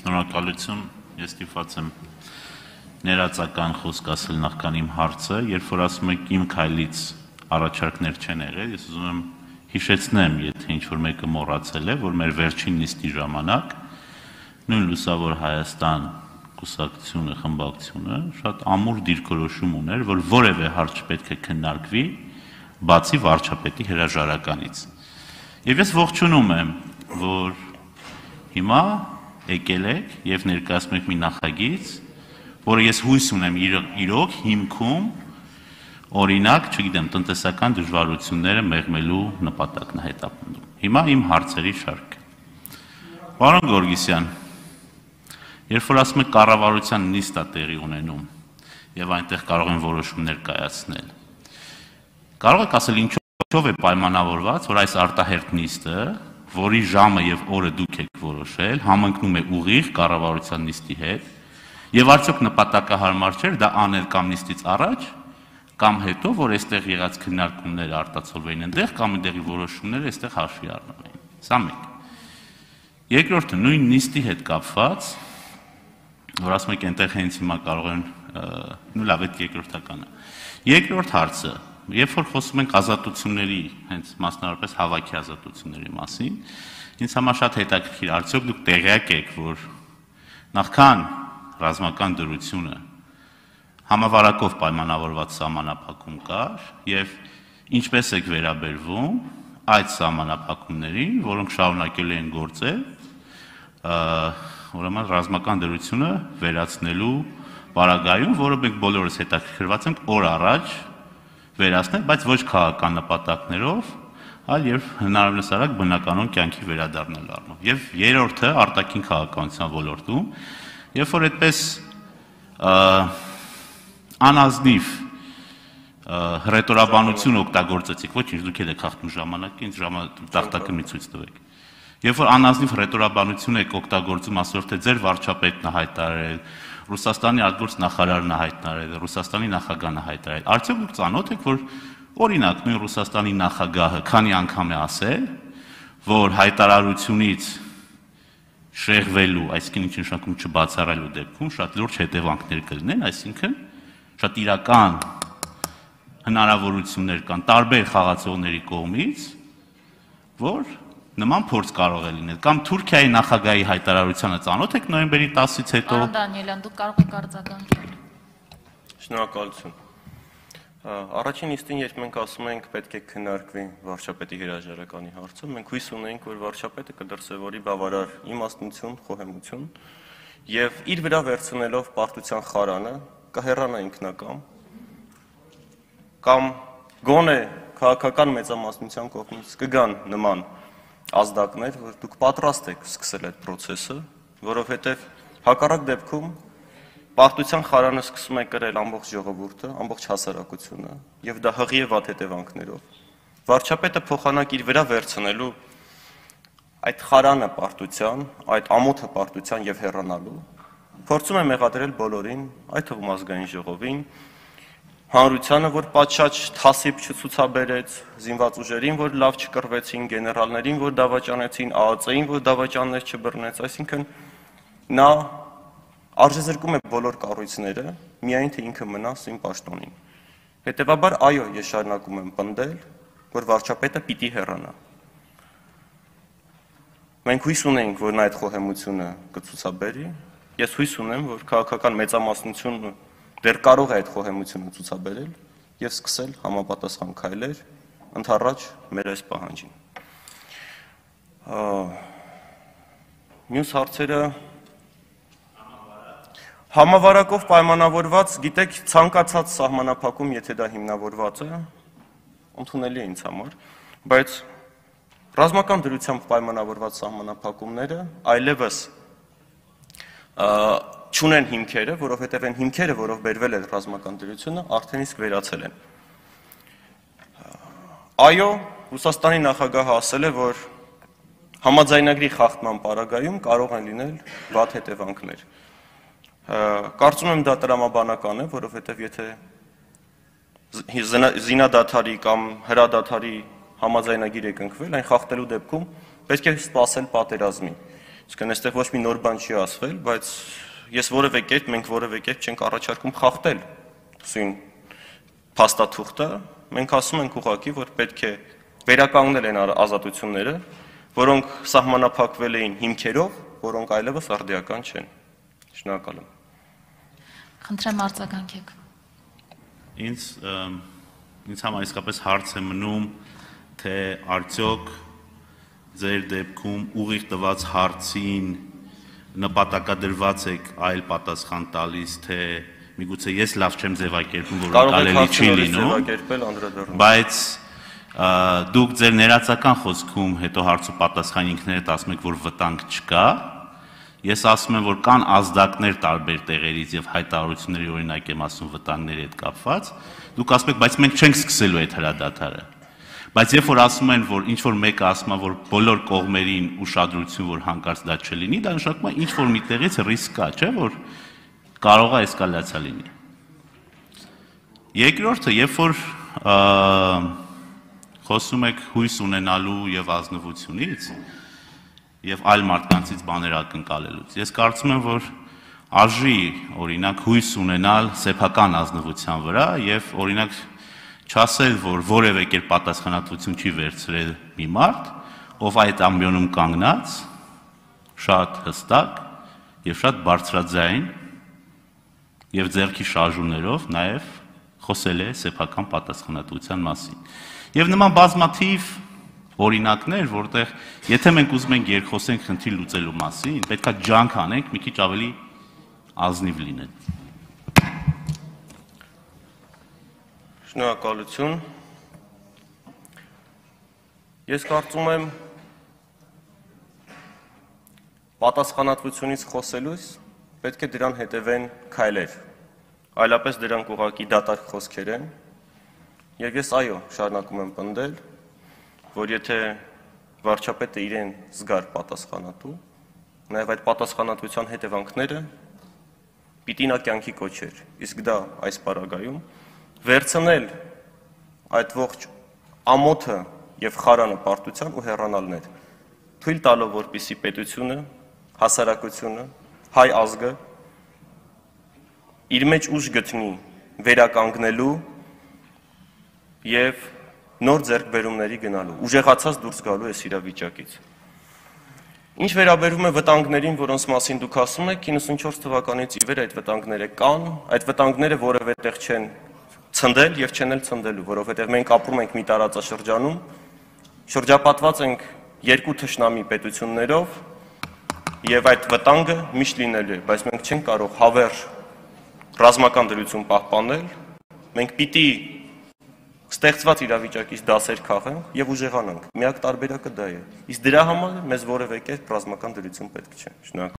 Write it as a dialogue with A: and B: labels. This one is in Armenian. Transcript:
A: Շնորհակալություն, ես ստիպված եմ ներածական խոսք ասել նախքան իմ հարցը, երբ որ ասում եք իմ քայլից առաջարկներ չեն եղել, ես ուզում եմ հիշեցնեմ, եթե ինչ-որ մեկը մոռացել է, որ մեր վերջին նիստի ժամանակ նույն Լուսավոր Հայաստան կուսակցությունը, խմբակցությունը շատ ամուր դիրքորոշում ուներ, որ որևէ հարց չպետք է քննարկվի, բացի վարչապետի հրաժարականից։ Եվ ես ողջունում եմ, որ հիմա եկել եք եւ ներկայացնում եք մի նախագիծ, որը ես հույս ունեմ իրոք հիմքում օրինակ, չգիտեմ, տնտեսական դժվարությունները մեղմելու նպատակն է հետապնդում։ Հիմա իմ հարցերի շարքը։ Պարոն Գորգիսյան, երբ որ ասում եք կառավարության նիստ է տեղի ունենում եւ այնտեղ կարող են որոշումներ կայացնել, կարող եք ասել ինչով է պայմանավորված, որ այս արտահերթ նիստը, որի ժամը եւ օրը դուք եք որոշել, համընկնում է ուղիղ կառավարության նիստի հետ, եւ արդյոք նպատակահարմար չէր դա անել կամ նիստից առաջ, կամ հետո, որ այստեղ եղած քննարկումները արտացոլվեին այնտեղ, կամ այնտեղի որոշումները այստեղ հաշվի առնվեին։ Սա մեկ։ Երկրորդը նույն նիստի հետ կապված, որ ասում եք այնտեղ հենց հիմա կարող են, նու լավ, այդ երկրորդականը։ Երկրորդ հարցը, երբ որ խոսում ենք ազատությունների, հենց մասնավորապես հավաքի ազատությունների մասին, ինձ համար շատ հետաքրքիր, արդյոք դուք տեղյակ եք, որ նախքան ռազմական դրությունը համավարակով պայմանավորված սահմանափակում կար եւ ինչպես եք վերաբերվում այդ սահմանափակումներին, որոնք շարունակելու են գործել, ուրեմն ռազմական դրությունը վերացնելու պարագայում, որը մենք բոլորս հետաքրքրված ենք օր առաջ վերացնել, բայց ոչ քաղաքական նպատակներով, այլ եւ հնարավորինս արագ բնականon կյանքի վերադառնալու առումով։ Եվ երրորդը արտաքին քաղաքականության ոլորտում, երբ որ այդպես անազնիվ հռետորաբանություն օգտագործեցիք, ոչինչ, դուք եք հաղթում ժամանակը, ինձ տախտակը մի ցույց տվեք։ Երբ որ անազնիվ հռետորաբանություն եք օգտագործում, ասելով թե ձեր վարչապետն է հայտարարել, Ռուսաստանի արտգործ նախարարն է հայտարարել, Ռուսաստանի նախագահն է հայտարարել, արդյոք դուք ծանոթ եք, որ օրինակ նույն Ռուսաստանի նախագահը քանի անգամ է ասել, որ հայտարարությունից շեղվելու, այսինքն ինչ նշանակում չբացառելու դեպքում շատ լուրջ հետևանքներ կլինեն, այսինքն շատ իրական հնարավորություններ կան տարբեր խաղացողների կողմից, որ նման փորձ կարող է լինել, կամ Թուրքիայի նախագահի հայտարարությանը ծանոթ եք նոյեմբերի 10-ից հետո։
B: Պարոն Դանիելյան, դուք կարող եք արձագանքել։
C: Շնորհակալություն։ Առաջին նիստին, երբ մենք ասում ենք պետք է քննարկվի վարչապետի հրաժարականի հարցը, մենք հույս ունենք, որ վարչապետը կդրսևորի բավարար իմաստնություն, խոհեմություն եւ իր վրա վերցնելով պարտության խարանը կհեռանա ինքնակամ կամ գոնե քաղաքական մեծամասնության կողմից կգան նման ազդակներ, որ դուք պատրաստ եք սկսել այդ process-ը, որովհետեւ հակառակ դեպքում պարտության խարանը սկսում է կրել ամբողջ ժողովուրդը, ամբողջ հասարակությունը եւ դա հղի է վատ հետևանքներով։ Վարչապետը փոխանակ իր վրա վերցնելու այդ խարանը պարտության, այդ ամոթը պարտության եւ հեռանալու փորձում է մեղադրել բոլորին, այդ թվում ազգային ժողովին, հանրությանը, որ պատշաճ թասիբ չցուցաբերեց, զինված ուժերին, որ լավ չկռվեցին, գեներալներին, որ դավաճանեցին, ԱԱԾ-ին, որ դավաճաններ չբռնեց, այսինքն նա արժեզրկում է բոլոր կառույցները, միայն թե ինքը մնա սին պաշտոնին։ Հետևաբար, այո, ես շարունակում եմ պնդել, որ վարչապետը պիտի հեռանա։ Մենք հույս ունենք, որ նա այդ խոհեմությունը կցուցաբերի, ես հույս ունեմ, որ քաղաքական մեծամասնությունը դեռ կարող է այդ խոհեմությունը ցուցաբերել եւ սկսել համապատասխան քայլեր ընդառաջ մեր այս պահանջին։ Մյուս հարցերը համավարակով պայմանավորված, գիտեք, ցանկացած սահմանափակում, եթե դա հիմնավորված է, ընդունելի է ինձ համար, բայց ռազմական դրությամբ պայմանավորված սահմանափակումները այլևս չունեն հիմքերը, որովհետև այն հիմքերը, որով բերվել է ռազմական դրությունը, արդեն իսկ վերացել են։ Այո, Ռուսաստանի նախագահը ասել է, որ համաձայնագրի խախտման պարագայում կարող են լինել վատ հետևանքներ։ Կարծում եմ դա տրամաբանական է, որովհետև եթե զինադադարի կամ հրադադարի համաձայնագիր է կնքվել, այն խախտելու դեպքում պետք է սպասել պատերազմի։ Այսինքն այստեղ ոչ մի նոր բան չի ասվել, բայց ես որևէ կերպ, մենք որևէ կերպ չենք առաջարկում խախտել սույն փաստաթուղթը, մենք ասում ենք ուղղակի, որ պետք է վերականգնել են ազատությունները, որոնք սահմանափակվել էին հիմքերով, որոնք այլևս արդիական չեն։ Շնորհակալ եմ։
B: Խնդրեմ արձագանքեք։
A: Ինձ համար իսկապես հարց է մնում, թե արդյոք ձեր դեպքում ուղիղ տված հարցին նպատակադրված եք այլ պատասխան տալիս, թե միգուցե ես լավ չեմ ձևակերպում, որ կարելի չի լինում, բայց դուք ձեր ներածական խոսքում հետո հարց ու պատասխան ինքներդ ասում եք, որ վտանգ չկա, ես ասում եմ, որ կան ազդակներ տարբեր տեղերից եւ հայտարարությունների օրինակ եմ ասում վտանգների հետ կապված, դուք ասում եք, բայց մենք չենք սկսելու այդ հրադադարը։ Բայց երբ որ ասում են, որ ինչ որ մեկը ասում է, որ բոլոր կողմերին ուշադրություն, որ հանկարծ դա չլինի, դա նշանակում է ինչ որ մի տեղից ռիսկ կա, չէ՞, որ կարող է էսկալացիա լինի։ Երկրորդը, երբ որ խոսում եք հույս ունենալու եւ ազնվությունից եւ այլ մարդկանցից բաներ ակնկալելուց, ես կարծում եմ, որ արժի օրինակ հույս ունենալ սեփական ազնվության վրա եւ օրինակ չասել, որ որևէ կերպ պատասխանատվություն չի վերցրել մի մարդ, ով այդ ամբիոնում կանգնած, շատ հստակ եւ շատ բարձրաձայն եւ ձեռքի շարժումներով նաեւ խոսել է սեփական պատասխանատվության մասին։ Եվ նման բազմաթիվ օրինակներ, որտեղ եթե մենք ուզում ենք երկխոսենք խնդիր լուծելու մասին, պետքա ջանք անենք մի քիչ ավելի ազնիվ լինել։
C: Շնորհակալություն։ Ես կարծում եմ պատասխանատվությունից խոսելուց պետք է դրան հետևեն քայլեր, այլապես դրանք ուղղակի դատարկ խոսքեր են, եւ ես այո, շարունակում եմ պնդել, որ եթե վարչապետը իրեն զգար պատասխանատու, նաեւ այդ պատասխանատվության հետևանքները պիտի նա կյանքի կոչեր, իսկ դա այս պարագայում վերցնել այդ ողջ ամոթը եւ խարանը պարտության ու հեռանալներ, թույլ տալով, որպեսզի պետությունը, հասարակությունը, հայ ազգը իր մեջ ուժ գտնի վերականգնելու եւ նոր ձեռքբերումների գնալու, ուժեղացած դուրս գալու այս իրավիճակից։ Ինչ վերաբերում է վտանգներին, որոնց մասին դուք ասում եք, 94 թվականից ի վեր այդ վտանգները կան, այդ վտանգները որևէ տեղ չեն ցնդել եւ չեն էլ ցնդելու, որովհետեւ մենք ապրում ենք մի տարածաշրջանում, շրջապատված ենք երկու թշնամի պետություններով եւ այդ վտանգը միշտ լինելու է, բայց մենք չենք կարող հավերժ ռազմական դրություն պահպանել, մենք պիտի ստեղծված իրավիճակից դասեր քաղենք եւ ուժեղանանք։ Միակ տարբերակը դա է։ Իսկ դրա համար մեզ որևէ կերպ ռազմական դրություն պետք չէ։ Շնորհակալ